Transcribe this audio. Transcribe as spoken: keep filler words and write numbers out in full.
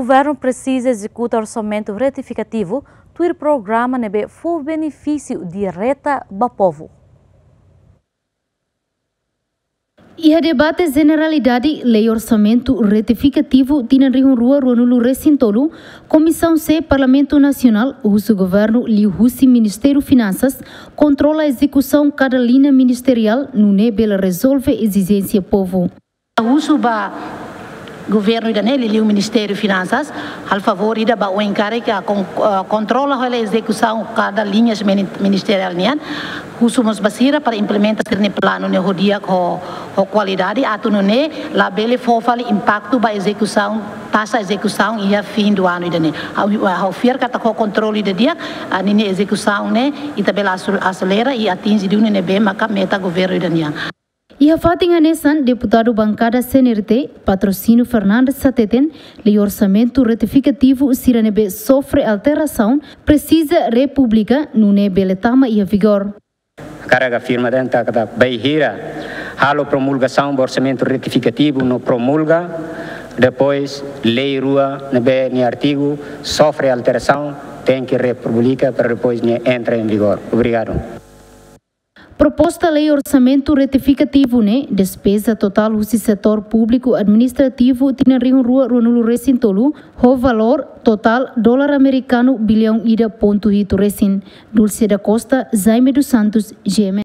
Governu presiza ezekuta orsamentu retifikativu, tuir programa ne'ebé fó benefísiu direta ba povu. Iha debate jeneralidade Lei Orsamentu Retifikativu tinan rihun rua ruanulu resin tolu, Komisaun C Parlamentu Nasionál husu Governu liuhusi Ministériu Finansas kontrola ezekusaun kada liña ministeriál nune'e bele rezolve ezijénsia povu. Husu ba governu ida-ne'e, liuliu Ministériu Finansas, halo favór ida ba oin karik, ah, kon-, ah, kontrola hela ezekusaun kada liñas mini-, ministeriál nian. Husu mós ba sira para implementa sira-nia planu ne'e ho di'ak, ho, ho kualidade, atu nune'e labele fó fali impaktu ba ezekusaun, taxa ezekusaun iha fim do ano ida-ne'e. Ha'u, ha'u fiar katak ho kontrolu ida di'ak, ah, ninia ezekusaun ne'e ita bele asu-, aselera i atinje duni ne'ebé maka meta governu ida nian. Iha fatin hanesan, deputadu bankada C N R T, Patrocínio Fernandes hateten, Lei Orsamentu Retifikativu sira ne'ebé sofre alterasaun presiza republika nune'e bele tama iha vigór. Hakarak afirma de'it katak bainhira halo promulgasaun ba orsamentu retifikativu no promulga, depois lei rua ne'ebé nia artigu sofre alterasaun, tenke republika para depois nia entra em vigor. Obrigadu. Proposta Lei Orsamentu Retifikativu ne'e despeza totál husi setór públiku administrativu tinan rihun rua ruanulu resin tolu, ho valór totál dolar amerikanu biliaun ida pontu hitu resin. Dulce da Costa, Jaime dos Santos, G M N.